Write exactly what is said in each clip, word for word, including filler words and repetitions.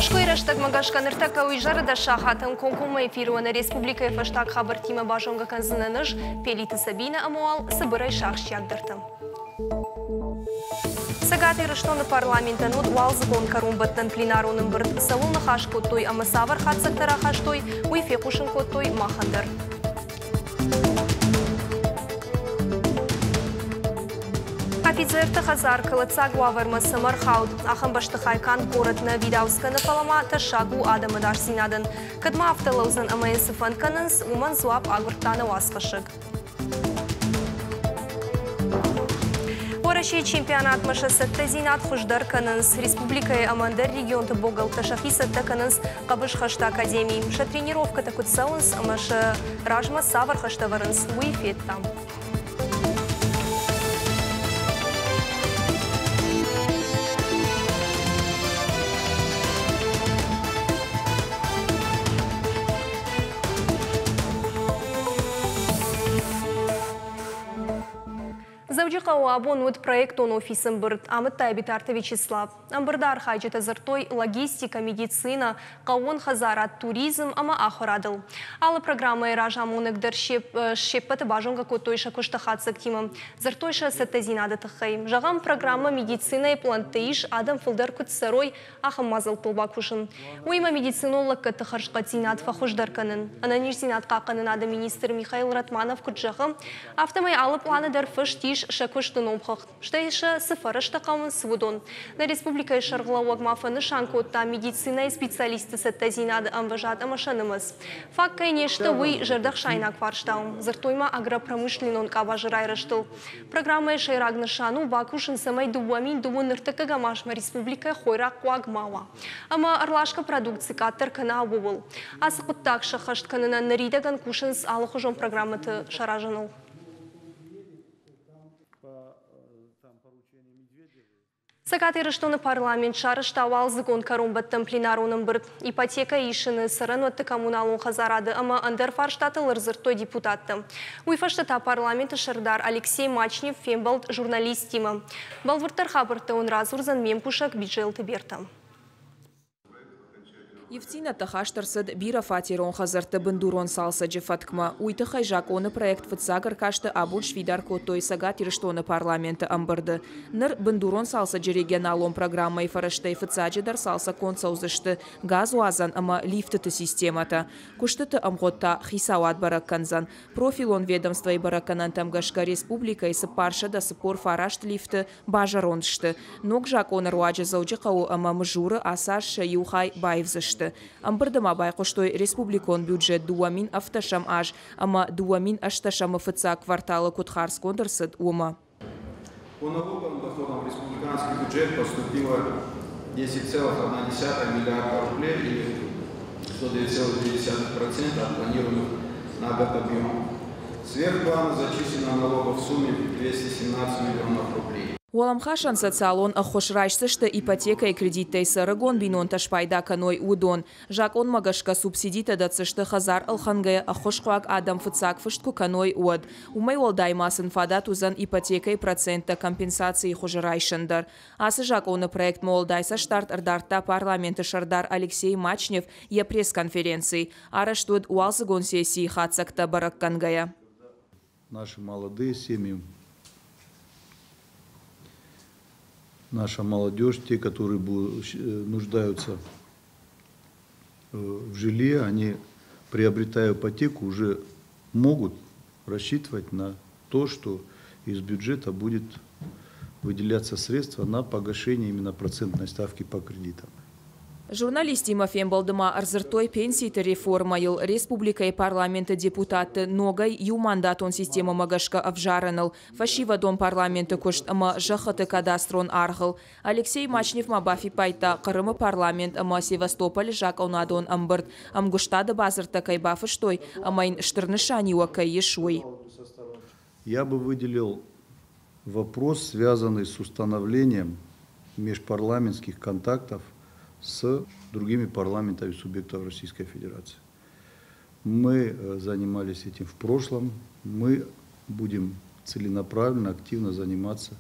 Мӕскуыйы рӕстӕгмӕ гӕсгӕ ныртӕккӕ у изӕры дӕс сахатӕн комкоммӕ эфиры нӕ республикӕйы фӕстаг хабӕрттимӕ базонгӕ кӕндзынӕн ӕз, Пелиты Сабинӕ ӕмӕ уал цыбырӕй сӕ ахсджиагдӕртӕ. Цӕгат Ирыстоны парламентӕн уыд уалдзыгон кӕронбӕттӕн пленарон ӕмбырд. Цӕуыл ныхас кодтой ӕмӕ цавӕр хатдзӕгтӕ рахастой, уый фехъусын кодтой махӕн дӕр. Офицерты хӕдзар кӕлӕддзаг уавӕрмӕ цӕмӕ рхауд, ахӕм бӕстыхай канд горӕт нӕ видауц кӕны, фӕлӕ ма тӕссаг у адӕмы ӕдасдзинадӕн. Кӕд ма афтӕ лӕудзӕн ӕмӕ йын цы фӕнд кӕнынц, уымӕн дзуапп агуырдта нӕ уацхӕссӕг. Уӕрӕсейы чемпионатмӕ сӕ цӕттӕдзинад хуыздӕр кӕнынц. Республикӕйы ӕмӕ ӕндӕр регионты богӕлттӕ сӕхи цӕттӕ кӕнынц хъӕбысхӕсты академийы. Сӕ тренировкӕтӕ куыд цӕуынц ӕмӕ сӕ размӕ цавӕр хӕстӕ ӕвӕрынц, уый федтам. Дзӕуджыхъӕуы абон уыд проектон офисы ӕмбырд, амыдта Битарты Вячеслав. Ӕмбырды архайджытӕ дзырдтой логистикӕ, медицинӕ, хъӕууон хӕдзарад, туризм ӕмӕ ахуырадыл. Алы программӕйы разамонӕг дӕр се ппӕты базонгӕ кодтой сӕ куысты хатдзӕгтимӕ. Дзырдтой сӕ цӕттӕдзинады тыххӕй. Зӕгъӕм, программӕ медицинӕйы пълӕнтты ис, адӕм фылдӕр куыд цӕрой, ахӕм мадзӕлттыл бакусын. Уыимӕ медицинон лӕггӕдты хӕрзхъӕддзинад фӕхуыздӕр кӕнын. Ӕнӕниздзинад хъахъхъӕнынады министр Михаил Ратманов куыд зӕгъы, афтӕмӕй алы пъланы дӕр фыст ис сӕ куысты номхыгъд, стӕй сӕ цы фӕрӕзтӕ хъӕуынц, уыдон. Нӕ республикӕйы сӕргълӕууӕг ма фӕнысан кодта медицинӕйы специалистты цӕттӕдзинады ӕмвӕзад ӕмӕ сӕ нымӕц. Фаг кӕй не сты, уый зӕрдӕхсаинаг фарста у. Дзырдтой ма агропромышленнон къабазы райрӕзтыл. Программӕйы сӕйраг нысан у бакусын, цӕмӕй дыууӕ мин дыууын ӕртыккӕгӕм азмӕ республикӕйы хойраг хъуаг ма уа ӕмӕ ӕрласгӕ продукци къаддӕр кӕна, ууыл. Ацы хъуыддаг сӕххӕст кӕнынӕн ныридӕгӕн кусынц алыхуызон программӕты саразыныл. Цӕгат Ирыстоны парламент сарӕзта уалдзыгон кӕронбӕттӕн пленарон ӕмбырд. Ипотекӕ исыны, цӕрӕнуӕтты коммуналон хӕдзарады ӕмӕ ӕндӕр фарстатыл ӕрдзырдтой депутаттӕ. Уый фӕстӕ та парламенты сӕрдар Алексей Мачнев фембӕлд журналисттимӕ. Бӕлвырддӕр хабӕрттӕ уын радзурдзӕн ме мкусӕг Биджелты Берта. Ивддзинӕдтӕ хаст ӕрцыд бирӕфатерон хӕдзӕртты бындурон цалцӕджы фӕткмӕ. Уый тыххӕй закъоны проект фыццаг ӕркасты абон сфидар кодтой Цӕгат Ирыстоны парламенты ӕмбырды. Ныр бындурон цалцӕджы регионалон программӕйы фӕрӕзтӕй фыццаджыдӕр цалцӕггонд цӕудзысты газуадзӕн ӕмӕ лифтыты системӕтӕ. Куыстыты ӕмгъуыд та хицауад бӕрӕг кӕндзӕн. Профилон ведомствойы бӕрӕггӕнӕнтӕм гӕсгӕ республикӕйы цыппарсӕдӕ цыппор фараст лифты базӕронд сты. Ног закъоны руаджы Дзӕуджыхъӕуы ӕмӕ Мызуры ацы аз сӕ иу хай баивдзысты. Ӕмбырды ма байхъуыстой республикон бюджет дыууӕ мин ӕвддӕсӕм аз ӕмӕ дыууӕ мин ӕстдӕсӕмы фыццаг кварталы куыд хардзгонд ӕрцыд, уымӕ. По налоговым доходам в республиканский бюджет поступило десять целых одна десятая миллиарда рублей или сто девять целых две десятых процента от планируемых на год объемов. Сверх плана зачислено налогов в сумме двести семнадцать миллионов рублей. Уӕлӕмхасӕн социалон ӕххуыс райсдзысты ипотекӕйы кредиттӕй цы ӕрыгон бинонтӕ спайда кӕной, уыдон. Закъонмӕ гӕсгӕ субсидитӕ дӕтдзысты хӕдзар ӕлхӕнгӕйӕ ӕххуысхъуаг адӕм фыццаг фыст куы кӕной, уӕд. Уымӕй уӕлдай ма сын фадат уыдзӕн ипотекӕйы проценттӕ компенсацийы хуызы райсын дӕр. Ацы закъоны проектмӕ уӕлдай цӕстдард ӕрдардта парламенты сӕрдар Алексей Мачнев йӕ пресс-конференцийы. Арӕзт уыд уалдзыгон сессийы хатдзӕгтӕ бӕрӕггӕнгӕйӕ. Наши молодые семьи, наша молодежь, те, которые нуждаются в жилье, они, приобретая ипотеку, уже могут рассчитывать на то, что из бюджета будет выделяться средства на погашение именно процентной ставки по кредитам. Журналисттимӕ фембӕлды ма ӕрдзырдтой пенситы реформӕйыл, республикӕйы парламенты депутатты ногӕй иумандатон системӕмӕ гӕсгӕ ӕвзарыныл, фӕсивӕдон парламенты куыст ӕмӕ зӕххыты кадастрон аргъыл. Алексей Мачнев ма бафиппайдта Хъырымы парламент ӕмӕ Севастополы закъонадон ӕмбырд ӕмгуыстады бадзырдтӕ кӕй бафыстой ӕмӕ йын стыр нысаниуӕг кӕй ис, уый. Я бы выделил вопрос, связанный с установлением межпарламентских контактов с другими парламентами субъектов Российской Федерации. Мы занимались этим в прошлом, мы будем целенаправленно, активно заниматься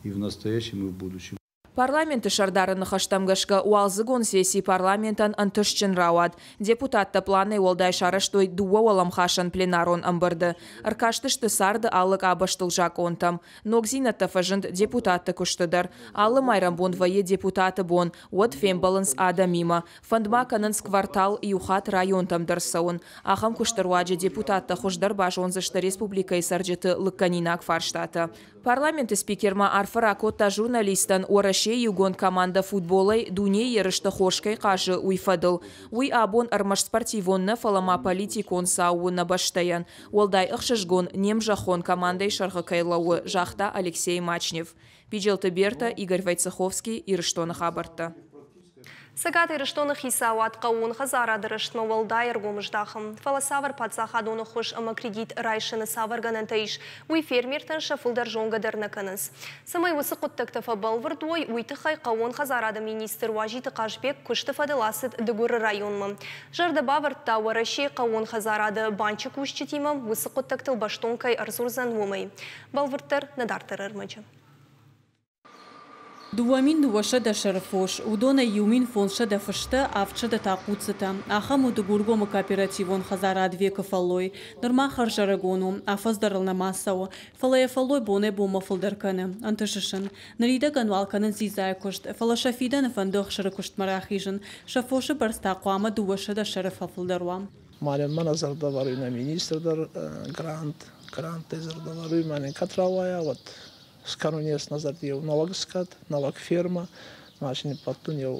и в настоящем, и в будущем. Парламенты сӕрдары ныхӕстӕм гӕсгӕ, уалдзыгон сесси парламентӕн ӕнтыстджын рауад. Депутаттӕ пъланӕй уӕлдай сарӕзтой дыууӕ уӕлӕмхасӕн пленарон ӕмбырды. Ӕркастысты царды алы къабӕзтыл закъонтӕм. Ногдзинӕдтӕ фӕзынд депутатты куысты дӕр. Алы майрӕмбон вӕййы депутаты бон, уӕд фембӕлынц адӕмимӕ. Фӕнд ма кӕнынц квартал иу хатт районтӕм дӕр цӕуын. Ахӕм куысты руаджы депутаттӕ хуыздӕр базондзысты республикӕйы цӕрджыты лыггӕнинаг фарстатӕ. Парламенты спикер ма арфӕ ракодта журналисттӕн, Уӕрӕсейы иугонд командӕ футболӕй дунейы ерысты хорз кӕй хъазы, уый фӕдыл. Уый абон ӕрмӕст спортивон нӕ, фӕлӕ ма политикон цау у нӕ бӕстӕйӕн. Уӕлдай ӕхсызгон, не мзӕххон командӕйы сӕргъы кӕй лӕууы, загъта Алексей Мачнев. Биджелты Берта, Игорь Войцеховский, Ирыстоны хабӕрттӕ. Цӕгат Ирыстоны хицауад хъӕууон хӕдзарады рӕзтмӕ уӕлдай ӕргом здахы. Фӕлӕ цавӕр паддзахадон ӕххуыс ӕмӕ кредит райсыны цавӕр гӕнӕнтӕ ис, уый фермертӕн сӕ фылдӕр зонгӕ дӕр нӕ кӕнынц. Цӕмӕй уыцы хъуыддӕгтӕ фӕбӕлвырд уой, уый тыххӕй хъӕууон хӕдзарады министр Уазиты Хъазбег куысты фӕдыл ацыд Дыгуры районмӕ. Зӕрдӕ бавӕрдта, Уӕрӕсейы хъӕууон хӕдзарады банчы кусджытимӕ уыцы хъуыддӕгтыл бӕстон кӕй ӕрдзурдзӕн, уымӕй. Бӕлвырддӕр нӕ дарддӕры ӕрмӕджы. Дыууӕ мин дыууӕсӕдӕ сӕры фос, уыдонӕй иу мин фондзсӕдӕ фыстӕ, авдсӕдӕ та хъуццытӕ. Ахӕм у Дыгургомы кооперативон хӕдзарад Векы фӕллой. Нырма хӕрзӕрыгон у, афӕдз дӕр ыл нӕма цӕуы, фӕлӕ йӕ фӕллой бонӕй-бонмӕ фылдӕр кӕны, ӕнтысы сын. Ныридӕгӕн уал кӕнынц дзидзайы куыст, фӕлӕ сӕ фидӕны фӕнды ӕхсыры куыстмӕ рахизын. Сӕ фосы бӕрц та хъуамӕ дыууӕсӕдӕ сӕры фӕфылдӕр уа. Мӕнӕн мӕнӕ зӕрдӕвӕруй нӕ министр дӕр грант, гранттӕй зӕрдӕвӕруй, мӕнӕн кӕд рауайа, уӕд скӕнун ес нӕ зӕрди еу нӕуӕг скъӕт, нӕуӕг фермӕ, машини бадтун еу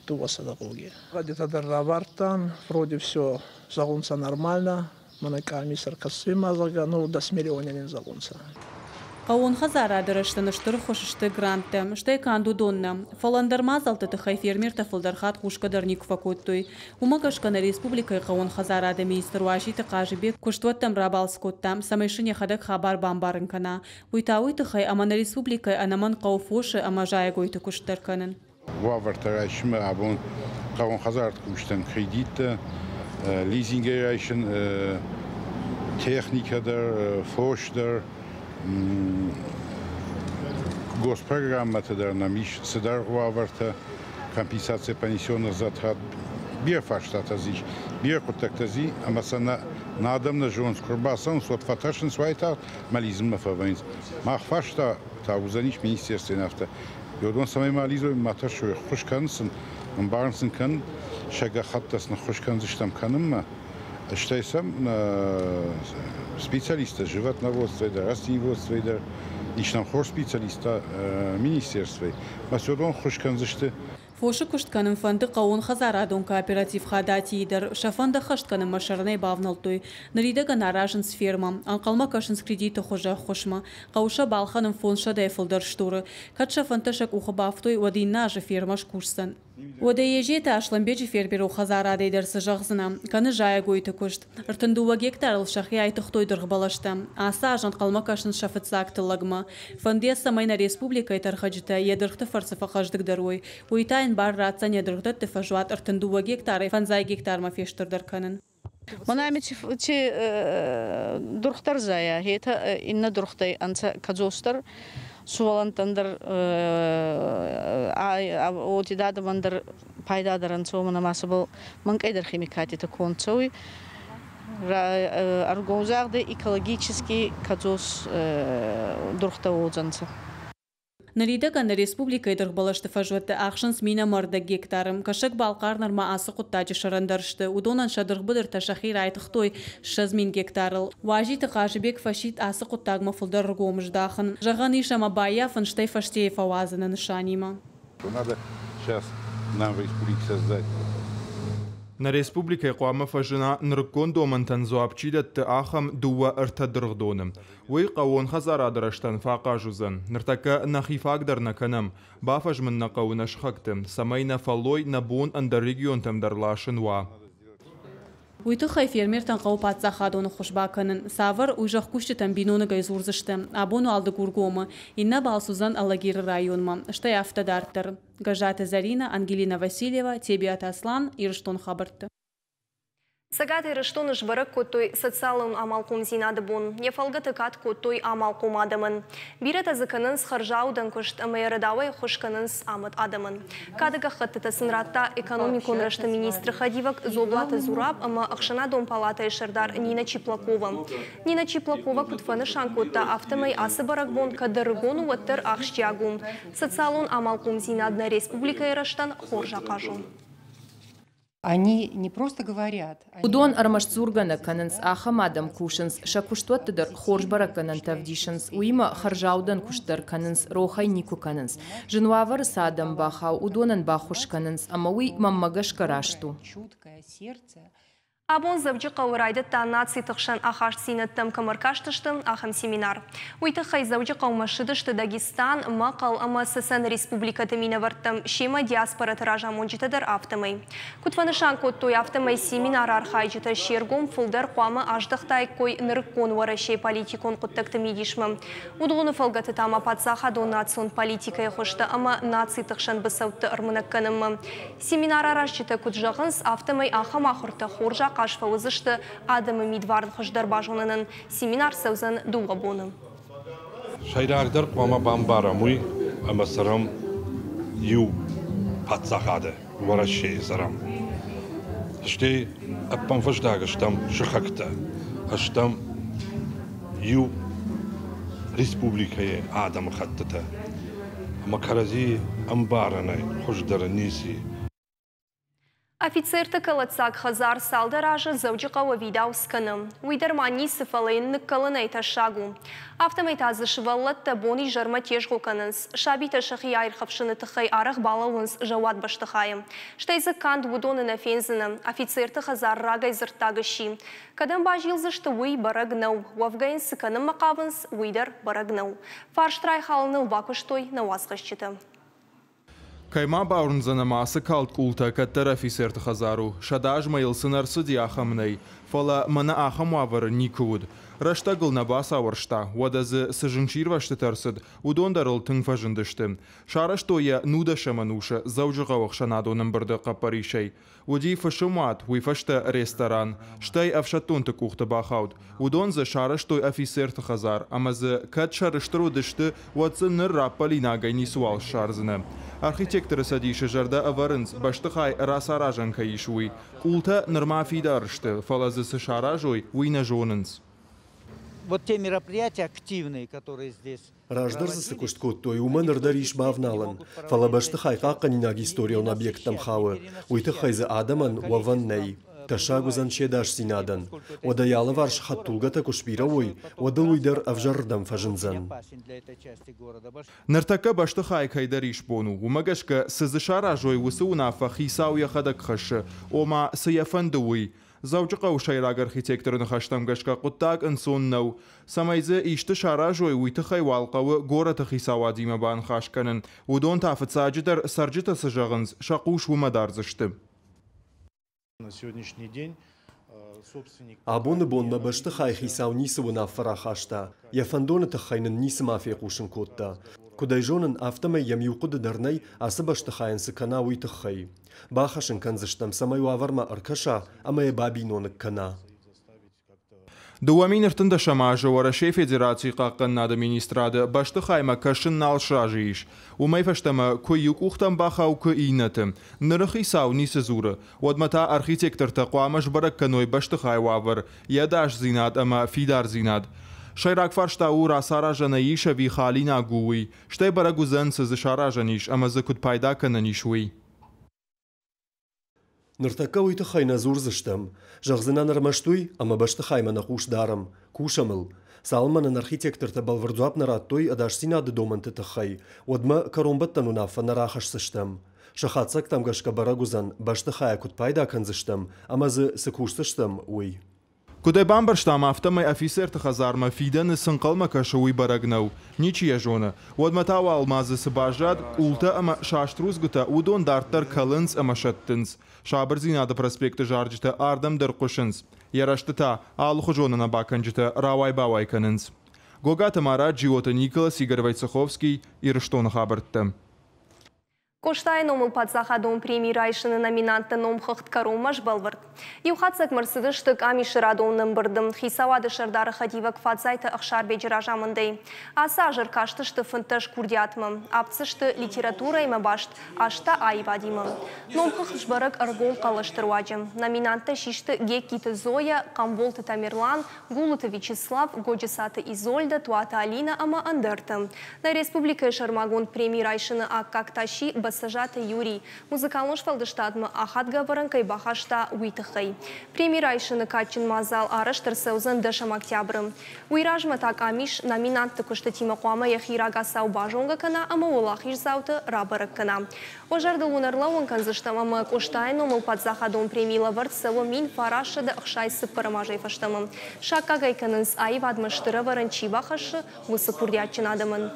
дууӕсӕдӕ гъоги. Гъӕдитӕ дӕр равардтан, вроде все зӕгъунцӕ нормально, мӕнӕ къамис ӕркӕсуй ма, зӕгъгӕ, ну дӕс миллиони нин зӕгъунцӕ. Хъӕууон хӕдзарады рӕзтӕн стыр ӕххуыс сты гранттӕ, стӕй канд уыдон нӕ, фӕлӕ ӕндӕр мадзӕлтты тыххӕй фермертӕ фылдӕр хатт хъусгӕ дӕр никуы фӕкодтой. Уымӕ гӕсгӕ нӕ республикӕйы хъӕууон хӕдзарады министр Уазиты Хъазыбег куыстуӕттӕм рабалц кодта, цӕмӕй сын йӕхӕдӕг хабар бамбарын кӕна. Уый та уый тыххӕй, ӕмӕ нӕ республикӕйы ӕнӕмӕнг хъӕуы фосы ӕмӕ зайӕгойты куыст дӕр кӕнын. Уавӕртӕ райсынмӕ абон хъӕууон хӕдзарады кусджытӕн кредиттӕ, лизингӕй райсын, техникӕ дӕр, фос дӕр, госпрограммӕтӕ дӕр нӕм ис цыдӕр уавӕртӕ, компенсация понесенных затрат, бирӕ фарстатӕ дзы ис, бирӕ хъуыддӕгтӕ дзы ӕмӕ сӕ нӕ адӕм нӕ зонынц, куы ӕрбацӕуынц, уӕд фӕтӕрсынц уайтагъд ӕмӕ лидзынмӕ фӕвӕййынц. Мах фарста та уыдзӕнис министерствойӕн афтӕ. Уыдон цӕмӕй ма лидзой, ма тӕрсой, ӕххуыс кӕнын сын, ӕмбарын сын кӕнын, сӕ гӕххӕттӕ сын ӕххуыс кӕндзыстӕм кӕнынмӕ. Стӕй сӕм специалисттӕ животноводствойы дӕр, растениеводствойы дӕр, ис нӕм хорз специалисттӕ министерствойы. Мӕ сӕ уыдон ӕххуыс кӕндзысты. Фосы куыст кӕнын фӕнды хъӕууон хӕдзарадон кооператив Хадатийы дӕр. Сӕ фӕнд ӕххӕст кӕнынмӕ сӕрӕнӕй бавнӕлдтой. Ныридӕгӕн аразынц фермӕ. Ӕнхъӕлмӕ кӕсынц кредиты хуызы ӕххуысмӕ. Хъӕуы сӕ балхӕнын фондзсӕдӕйӕ фылдӕр стуры. Кӕд сӕ фӕндтӕ сӕ къухы бафтой, уӕд иннӕ азы фермӕ скусдзӕн. Уӕдӕ Езеты Аслӕнбеджы фермерон хӕдзарадӕй дӕр цы зӕгъдзынӕ? Кӕны зайӕгойты куыст. Ӕртын дыууӕ гектарыл сӕхи айтыгътой дыргъбӕлӕстӕ. Ацы аз ӕнхъӕлмӕ кӕсынц сӕ фыццаг тыллӕгмӕ. Фӕнды йӕ, цӕмӕй нӕ республикӕйы тӕрхӕджытӕ йӕ дыргъты фӕрцы фӕхъӕздыгдӕр уой. Уый та йын бар ратдзӕн йӕ дыргъдӕтты фӕзуат ӕртын дыууӕ гектарӕй фӕндзай гектармӕ фестырдӕр кӕнын. Мӕнӕ ци дургътӕ рзайа, етӕ иннӕ дургътӕй ӕнцӕ кӕдзосдӕр, сувӕллӕнттӕн дӕр, уотид адӕмӕн дӕр пайдадӕр ӕнцӕ, уомӕн ӕма сӕбӕл мӕнкъӕйдӕр химикатитӕ конд цӕуй. Ӕргом загъдӕй экологически кӕдзос дургътӕ уодзӕнцӕ. Ныридӕгӕн нӕ республикӕйы дыргъбӕлӕсты фӕзуӕттӕ ахсынц мин ӕмӕ ӕрдӕг гектары. Кӕсӕг-Балхъар нырма ацы хъуыддаджы сӕрӕндӕр сты. Уыдонӕн сӕ дыргъбыдыртӕ сӕхи райтыгътой ссӕдз мин гектарыл. Уазиты Хъазыбег фӕсидт ацы хъуыддагмӕ фылдӕр ӕргом здахын. Зӕгъӕн ис, ӕмӕ баййафын, стӕй фӕстейы фӕуадзыны нысанимӕ. Надо сейчас нам в республике создать. Нӕ республикӕйы хъуамӕ фӕзына, нырыккон домӕнтӕн дзуапп чи дӕтты, ахӕм дыууӕ-ӕртӕ дыргъдоны. Уый хъӕууон хӕдзарады рӕзтӕн фӕахъаз уыдзӕн. Ныртӕккӕ нӕхи фаг дӕр нӕ кӕнӕм. Бафӕзмын нӕ хъӕуы нӕ сыхӕгты, цӕмӕй нӕ фӕллой, нӕ бон ӕндӕр регионтӕм дӕр ласын уа. Уый тыххӕй фермертӕн хъӕуы паддзахадон ӕххуыс бакӕнын. Цавӕр, уый зӕхкусджытӕн биноныгӕй дзурдзысты. Абон уал Дыгургомы. Иннӕ балц уыдзӕн Алагиры районмӕ. Стӕй афтӕ дарддӕр. Гӕззаты Зӕринӕ, Ангелина Васильева, Тебиаты Аслан, Ирыстон хабӕртты. Цӕгат Ирыстоны сбӕрӕг кодтой социалон амалхъомдзинады бон. Йӕ фӕлгӕты кад кодтой амалхъом адӕмӕн. Бирӕтӕ дзы кӕнынц хӕрзаудӕн куыст ӕмӕ рӕдауӕй ӕххуыс кӕнынц амыд адӕмӕн. Кады гӕххӕттытӕ сын радта экономикон рӕзты министры хӕдивӕг Дзоблаты Зураб ӕмӕ ӕхсӕнадон палатӕйы сӕрдар Нина Чиплакова. Нина Чиплакова куыд фӕнысан кодта, афтӕмӕй ацы бӕрӕгбон кӕд ӕрыгон у, уӕддӕр ахсджиаг у. Социалон амалхъомдзинад нӕ республикӕйы рӕзтӕн хорз ахъаз у. Они не просто говорят. Уыдон ӕрмӕст дзургӕ нӕ кӕнынц, ахӕм адӕм кусынц, сӕ куыстуӕтты дӕр хорз бӕрӕггӕнӕнтӕ ӕвдисынц, уыимӕ хӕрзаудӕн куыст дӕр кӕнынц, рох ӕй никуы кӕнынц. Зын уавӕры цы адӕм бахауы, уыдонӕн баххуыс кӕнынц, ӕмӕ уый мӕнмӕ гӕсгӕ раст у. Чуткое сердце. Абон Дзӕуджыхъӕуы райдыдта нациты хсӕн ахастдзинӕдтӕм кӕм ӕркастысты, ахӕм семинар. Уый тыххӕй Дзӕуджыхъӕумӕ ссыдысты Дагестан, Мӕхъӕл ӕмӕ Цӕцӕны республикӕты минӕвӕрттӕ, семӕ диаспораты разамонджытӕ дӕр афтӕмӕй. Куыд фӕнысан кодтой, афтӕмӕй семинары архайджытӕ се ргом фылдӕр хъуамӕ аздӕхтаиккой нырыккон Уӕрӕсейы политикон хъуыддӕгты мидисмӕ. Уыдоны фӕлгӕты та ма паддзахадон национ политикӕйы хуызтӕ ӕмӕ нациты хсӕн быцӕутты ӕрмынӕг кӕнынмӕ. Семинар аразджытӕ куыд зӕгъынц, афтӕмӕй ахӕм ахуыртӕ хорз ахъаз фӕуыдзысты адӕмы мидварн хуыздӕр базонынӕн. Семинар цӕудзӕн дыууӕ боны. Сӕйрагдӕр хъуамӕ бамбарӕм уый, ӕмӕ цӕрӕм иу паддзахады, Уӕрӕсейы цӕрӕм. Стӕй ӕппынфӕстаг стӕм сыхӕгтӕ, стӕм иу республикӕйы адӕмыхӕттытӕ. Ӕмӕ кӕрӕдзи ӕмбарынӕй хуыздӕр ницы и. Офицерты кӕлӕддзаг хӕдзар цалдӕр азы Дзӕуджыхъӕуы ӕвидауц кӕны. Уый дӕр ма ницы, фӕлӕ йын ныккӕлынӕй тӕссаг у. Афтӕмӕй та дзы сывӕллӕттӕ бон-изӕрмӕ тезгъо кӕнынц. Сабитӕ сӕхи аирхӕфсыны тыххӕй арӕх балӕууынц зӕууат бӕстыхайы. Стӕй дзы канд уыдоны нӕ фендзынӕ. Офицерты хӕдзар рагӕй дзырддаг сси. Кӕдӕм базилдзысты, уый бӕрӕг нӕу. Уӕвгӕ йын цы кӕнынмӕ хъавынц, уый дӕр бӕрӕг нӕу. Фарст райхалыныл бакуыстой нӕ уацхӕсджытӕ. Кӕй ма бауырндзӕн, ӕмӕ ацы калд къултӕ кӕддӕр офицерты хӕдзар у. Сӕдӕ азмӕ йыл цы нӕ рцыди, ахӕм нӕй. Фӕлӕ мӕнӕ ахӕм уавӕры никуы уыд. Рӕстӕгыл нӕ бацауӕрста, уӕдӕ дзы цы зынгсирвӕзтытӕ ӕрцыд, уыдон дӕр ыл тынг фӕзындысты. Сарӕзтой йӕ нудӕсӕм ӕнусы Дзӕуджыхъӕуы ӕхсӕнадон ӕмбырды хъӕппӕрисӕй. Уыди фысымуат, уый фӕстӕ ресторан, стӕй ӕфсӕддонты къухты бахауд. Уыдон дзы сарӕзтой офицерты хӕдзар, ӕмӕ дзы кӕд сӕрыстыр уыдысты, уӕд дзы ныр раппӕлинагӕй ницыуал ссардзынӕ. Архитекторы цӕдисы зӕрдӕ ӕвӕрынц, бӕстыхай рацаразӕн кӕй ис, уый. Къултӕ нырма фидар сты, фӕлӕ дзы цы саразой, уый нӕ зонынц. Вот те мероприятия активные, которые здесь Раздӕр дзы цы куыст кодтой, уымӕ ныр дӕр ис бавналӕн, фӕлӕ бӕстыхай хъахъхъӕнинаг историон объекттӕм хауы, уый тыххӕй дзы адӕмӕн уӕвӕн нӕй. Тӕссаг уыдзӕн се дасдзинадӕн. Уӕдӕ йӕ алыварс хӕдтулгӕтӕ куы сбирӕ уой, уӕд ыл уый дӕр ӕвзӕрырдӕм фӕзындзӕн. Ныртӕккӕ бӕстыхай кӕйдӕр исбон у, уымӕ гӕсгӕ цы дзы саразой, уыцы уынаффӕ хицау йӕхӕдӕг хӕссы, ома цы йӕ фӕнды, уый. Дзӕуджыхъӕуы сӕйраг архитекторы ныхӕстӕм гӕсгӕ хъуыддаг ӕнцон нӕу. Цӕмӕй дзы исты саразой, уый тыххӕй уал хъӕуы горӕты хицауадимӕ баныхас кӕнын. Уыдон та фыццаджыдӕр цӕрджытӕ цы зӕгъынц, сӕ хъус уымӕ дардзысты. На сегодняшний день собственник Абоны бонмӕ бӕстыхайы хицау ницы уынаффӕ рахаста, йӕ фӕндоны тыххӕй нын ницыма фехъусын кодта. Куыд ӕй зонын, афтӕмӕй йӕм иу хъуыды дӕр нӕй, ацы бӕстыхайӕн цы кӕна, уый тыххӕй. Бахӕс ын кӕндзыстӕм, цӕмӕй уавӕрмӕ ӕркӕса ӕмӕ йӕ бабиноныг кӕна. Дыууӕ мин ӕртындӕсӕм азы Уӕрӕсейы Федерацийы хъахъхъӕнынады министрады бӕстыхаймӕ кӕсын нал сразы ис. Уымӕй фӕстӕмӕ куы иу къухтӕм бахауы, куы иннӕты. Ныры хицау ницы дзуры. Уӕдмӕ та архитектортӕ хъуамӕ сбӕрӕг кӕной бӕстыхайы уавӕр, йӕ ӕдасдзинад ӕмӕ фидардзинад. Сӕйраг фарста у, рацаразӕн ӕй ис ӕви халинаг у, уый. Стӕй бӕрӕг уыдзӕн, цы дзы саразӕн ис ӕмӕ дзы куыд пайда кӕнӕн ис, уый. Ныртӕккӕ уый тыххӕй нӕ дзурдзыстӕм. Зӕгъдзынӕн ӕрмӕст уый, ӕмӕ бӕстыхаймӕ нӕ хъус дарӕм, кусӕм ыл. Цалынмӕ нын архитектортӕ бӕлвырд дзуапп нӕ радтой ӕдасдзинады домӕнты тыххӕй, уӕдмӕ кӕронбӕттӕн уынаффӕ нӕ рахӕсдзыстӕм. Сӕ хатдзӕгтӕм гӕсгӕ бӕрӕг уыдзӕн, бӕстыхайӕ куыд пайда кӕндзыстӕм ӕмӕ дзы цы кусдзыстӕм, уый. Куыд ӕй бамбӕрстам, афтӕмӕй офицерты хӕдзармӕ фидӕны цы нхъӕлмӕ кӕсы, уый бӕрӕг нӕу. Ничи йӕ зоны. Уӕдмӕ та уал ма дзы цы баззад, къултӕ ӕмӕ саст рудзгуытӕ, уыдон дарддӕр кӕлынц ӕмӕ сӕттынц. Сабырдзинады проспекты зарджытӕ ардӕм дӕр хъуысынц. Йӕ рӕзты та алыхуызон ӕнӕбакӕнджытӕ рауай-бауай кӕнынц. Гогаты Марат, Джиоты Николас, Игорь Войцеховский, Ирыстоны хабӕрттӕ. Къостайы номыл паддзахадон преми райсыны номинантты номхыгъд кӕронмӕ сбӕлвырд. Иу хатдзӕгмӕ ӕрцыдысты къамисы радон ӕмбырды хицауады сӕрдары хӕдивӕг Фадзайты Ӕхсарбеджы разамындӕй. Ацы аз ӕркастысты фынддӕс курдиатмӕ. Авд дзы сты литературӕимӕ баст, аст та аивадимӕ. Номхыгъд сбӕрӕг ӕргом хъӕлӕсты руаджы. Номинанттӕ систы Гегкиты Зоя, Хъамболты Тамерлан, Гулуты Вячеслав, Годжысаты Изольдӕ, Туаты Алинӕ ӕмӕ ӕндӕртӕ. Нӕ республикӕйы сӕрмагонд преми райсыны аккаг та сси Бӕцӕзаты Юрий, музыкалон сфӕлдыстадмӕ ахадгӕ ӕвӕрӕн кӕй бахаста, уый тыххӕй. Преми райсыны кадджын мадзал арӕзт ӕрцӕудзӕн дӕсӕм октябры. Уый размӕ та къамис номинантты куыстытимӕ хъуамӕ йӕхи рагацау базонгӕ кӕна ӕмӕ уӕлахиздзауты рабӕрӕг кӕна. Уӕ зӕрдыл уын ӕрлӕууын кӕндзыстӕм, ӕмӕ Къостайы номыл паддзахадон преми лӕвӕрд цӕуы мин фарастсӕдӕ ӕхсай цыппӕрӕм азӕй фӕстӕмӕ. Саккаг ӕй кӕнынц, аивадмӕ стыр ӕвӕрӕн чи бахӕссы, уыцы курдиатджын адӕмӕн.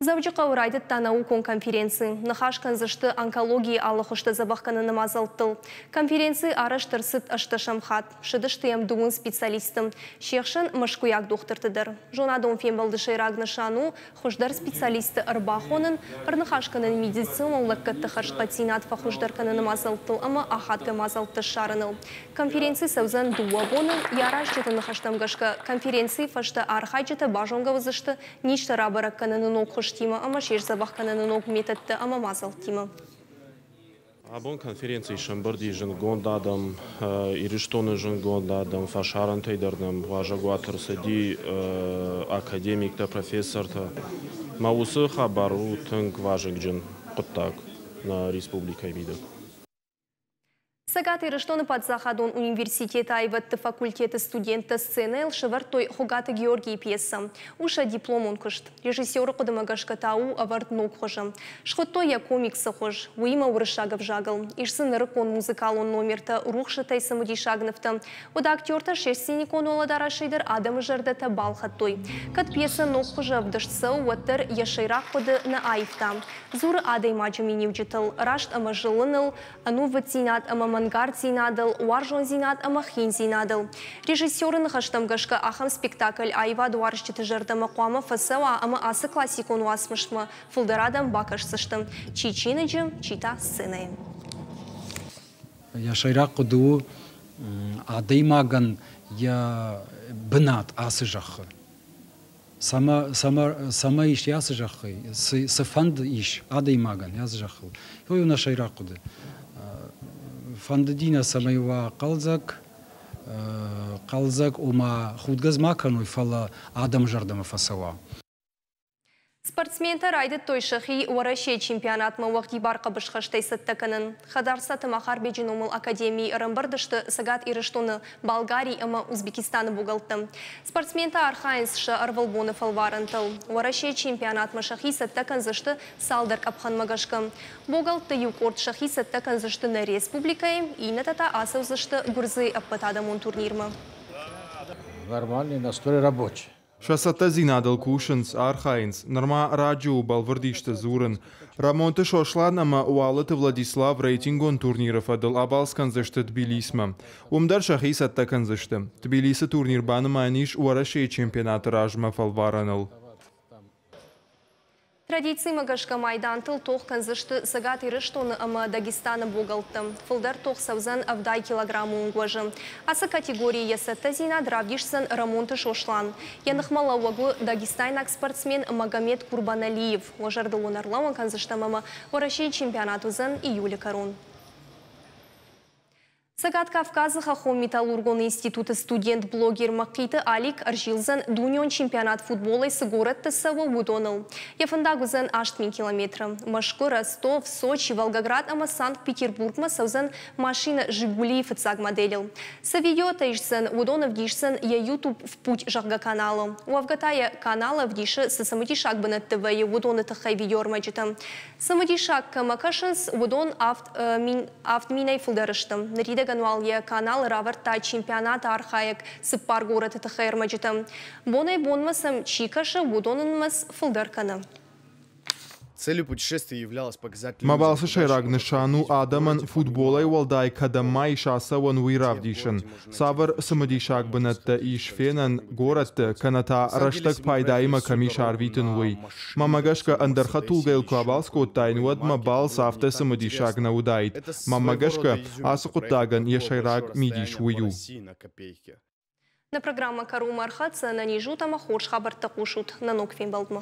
Дзӕуджыхъӕуы райдыдта наукон конференци. Ныхас кӕндзысты онкологийы алы хуызты дзӕбӕх кӕныны мадзӕлттыл. Конференци арӕзт ӕрцыд ӕстдӕсӕм хатт. Ссыдысты йӕм дыууын специалисты. Се хсӕн мӕскуыйаг дохтырты дӕр. Зонадон фембӕлды сӕйраг нысан у хуыздӕр специалистты ӕрбахонын, ӕрныхас кӕнын медицинон лӕггӕдты хӕрзхъӕддзинад фӕхуыздӕр кӕныны мадзӕлттыл ӕмӕ ахадгӕ мадзӕлттӕ ссарыныл. Конференци цӕудзӕн дыууӕ боны. Йӕ аразджыты ныхӕстӕм гӕсгӕ, конференцийы фӕстӕ архайджытӕ базонгӕ уыдзысты низтӕ рабӕрӕг кӕныны ног хуызтимӕ ӕмӕ се сдзӕбӕх кӕныны ног методтӕ ӕмӕ мадзӕлттимӕ. Абон конференцийы сӕмбырди зындгонд адӕм, Ирыстоны зындгонд адӕм, фӕсарӕнтӕй дӕр нӕм уазӕгуаты ӕрцыди академиктӕ, профессортӕ. Мӕ уыцы хабар у тынг вазыгджын хъуыддаг нӕ республикӕйы мидӕг. Цӕгат Ирыстоны паддзахадон университеты аивӕдты факультеты студенттӕ сценӕйыл сӕвӕрдтой Хуыгаты Георгийы пьесӕ. У сӕ дипломон куыст. Режиссеры хъуыдымӕ гӕсгӕ та у ӕвӕрд ног хуызы. Схуыдтой йӕ комиксы хуыз, уыимӕ уырыссаг ӕвзагыл. Ис дзы нырыккон музыкалон номертӕ, рухсытӕй цымыдисаг нывтӕ. Уӕдӕ актертӕ се сценикон уӕлӕдарӕсӕй дӕр адӕмы зӕрдӕтӕ балхӕдтой. Кӕд пьесӕ ног хуызы ӕвдыст цӕуы, уӕддӕр йӕ сӕйраг хъуыды нӕ аивта. Дзуры адӕймаджы миниуджытыл, раст ӕмӕ зылыныл, ӕнувыддзинад ӕмӕ мӕнгарддзинадыл, уарзондзинад ӕмӕ хиндзинадыл. Режиссеры ныхӕстӕм гӕсгӕ ахӕм спектакль аивадуарзджыты зӕрдӕмӕ хъуамӕ фӕцӕуа ӕмӕ ацы классикон уацмысмӕ фылдӕр адӕм бакӕсдзысты, чи чиныджы, чи та сценӕйы. Йӕ сӕйраг хъуыды у адӕймагӕн йӕ бынат ацы зӕххы. Цӕмӕ ис ацы зӕххы, цы фӕнд ис адӕймагӕн ацы зӕххыл. Уый у нӕ сӕйраг хъуыды. Фӕндыди нӕ, цӕмӕй уа хъӕлдзӕг, хъӕлдзӕг, ома худгӕ ма кӕной, фӕлӕ адӕмы зӕрдӕмӕ фӕцӕуа. Спортсментӕ райдыдтой сӕхи Уӕрӕсейы чемпионатмӕ уӕгъдибар хъӕбысхӕстӕй цӕттӕ кӕнын. Хӕдарцаты Махарбеджы номыл академийы ӕрӕмбырд сты Цӕгат Ирыстоны, Болгари ӕмӕ Узбекистаны богӕлттӕ. Спортсментӕ архайынц сӕ ӕрвылбоны фӕлварӕнтыл. Уӕрӕсейы чемпионатмӕ сӕхи цӕттӕ кӕндзысты цалдӕр къӕпхӕнмӕ гӕсгӕ. Богӕлтты иу къорд сӕхи цӕттӕ кӕндзысты нӕ республикӕйы, иннӕтӕ та ацӕудзысты Гуырдзыйы ӕппӕтадӕмон турнирмӕ. Нормальный настрой рабочий. Сӕ цӕттӕдзинадыл кусынц, архайынц. Нырма раджы у бӕлвырд исты дзурын. Рӕмонты Сослан ӕмӕ Уалыты Владислав рейтингон турниры фӕдыл абалц кӕндзысты Тбилисмӕ. Уым дӕр сӕхи цӕттӕ кӕндзысты. Тбилисы турнир банымайӕн ис Уӕрӕсейы чемпионаты размӕ фӕлварӕныл. Традицимӕ гӕсгӕ майдантыл тох кӕндзысты Цӕгат Ирыстоны ӕмӕ Дагестаны богӕлттӕ. Фылдӕр тох цӕудзӕн ӕвдай килограммы онг уӕзы. Ацы категорийы йӕ цӕттӕдзинад равдисдзӕн Рӕмонты Сослан. Йӕ ныхмӕлӕууӕг у дагестайнаг спортсмен Магомед Курбаналиев. Уӕ зӕрдыл уын ӕрлӕууын кӕндзыстӕм ӕмӕ Уӕрӕсейы чемпионат уыдзӕн июлы кӕрон. Цӕгат Кавказы хӕххон-металлургон институты студент-блогер Мӕхъиты Алик ӕрзилдзӕн дунеон чемпионат футболӕй цы горӕтты цӕуы, уыдоныл. Йӕ фӕндаг уыдзӕн аст мин километры. Мӕскуы, Ростов, Сочи, Волгоград ӕмӕ Санкт-Петербургмӕ цӕудзӕн машинӕ «Жигули»-йы фыццаг моделыл. Цы видеотӕ исдзӕн, уыдон ӕвдисдзӕн йӕ YouTube в путь зӕгъгӕ каналы. Уӕвгӕ та йӕ каналы ӕвдисы, цы цымыдисаг бынӕтты вӕййы, уыдоны тыххӕй видеоӕрмӕджытӕ. Цымыдисаг кӕмӕ кӕсынц, уыдон авд мин, авд минӕй фылдӕр сты. Ныридӕгӕн уал йӕ каналы равӕрдта чемпионаты архайӕг цыппар горӕты тыххӕй ӕрмӕджытӕ. Бонӕй-бонмӕ сӕм чи кӕсы, уыдоны нымӕц фылдӕр кӕны. Целью путешествия являлось показать Мӕ балцы сӕйраг нысан у адӕмӕн футболӕй уӕлдай кӕдӕм ма ис ацӕуӕн, уый равдисын. Цавӕр цымыдисаг бынӕттӕ ис фенӕн горӕтты, кӕнӕ та рӕстӕг пайдаимӕ кӕм ис арвитын, уый. Мӕнмӕ гӕсгӕ, ӕндӕр хӕдтулгӕйыл куы абалц кодтаин, уӕд мӕ балц афтӕ цымыдисаг нӕ уыдаид. Мӕнмӕ гӕсгӕ, ацы хъуыддагӕн йӕ сӕйраг мидис уый у. Нӕ программӕ кӕронмӕ ӕрхӕццӕ. Ӕнӕниз ут ӕмӕ хорз хабӕрттӕ хъусут. Нӕ ног фембӕлдмӕ.